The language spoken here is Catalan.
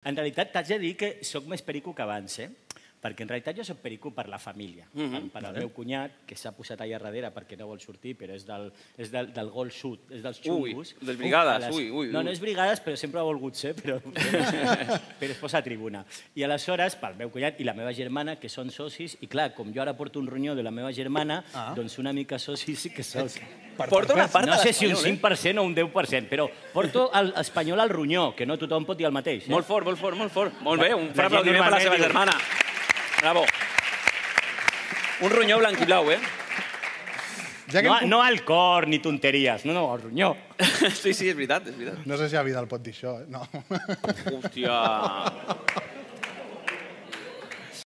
En realitat, t'haig de dir que sóc més perico que abans, perquè en realitat jo soc perico per la família. Per al meu cunyat, que s'ha posat allà darrere perquè no vol sortir, però és del Gol Sud, és dels xungos. Ui, dels brigades, ui. No, no és brigades, però sempre ha volgut ser, però es posa a tribuna. I aleshores, pel meu cunyat i la meva germana, que són socis, i clar, com jo ara porto un ronyó de la meva germana, doncs una mica socis sí que soc. Porta una part de No sé si un l'Espanyol, 5% o un 10%, però porto l'Espanyol al ronyó, que no tothom pot dir el mateix. Molt fort, molt fort, molt fort. Molt bé, un fort aplaudiment per la seva germana. Bravo. Un ronyó blanc i blau, No al cor ni tonteries, no, al ronyó. Sí, és veritat, és veritat. No sé si a Vidal pot dir això, no. Hòstia.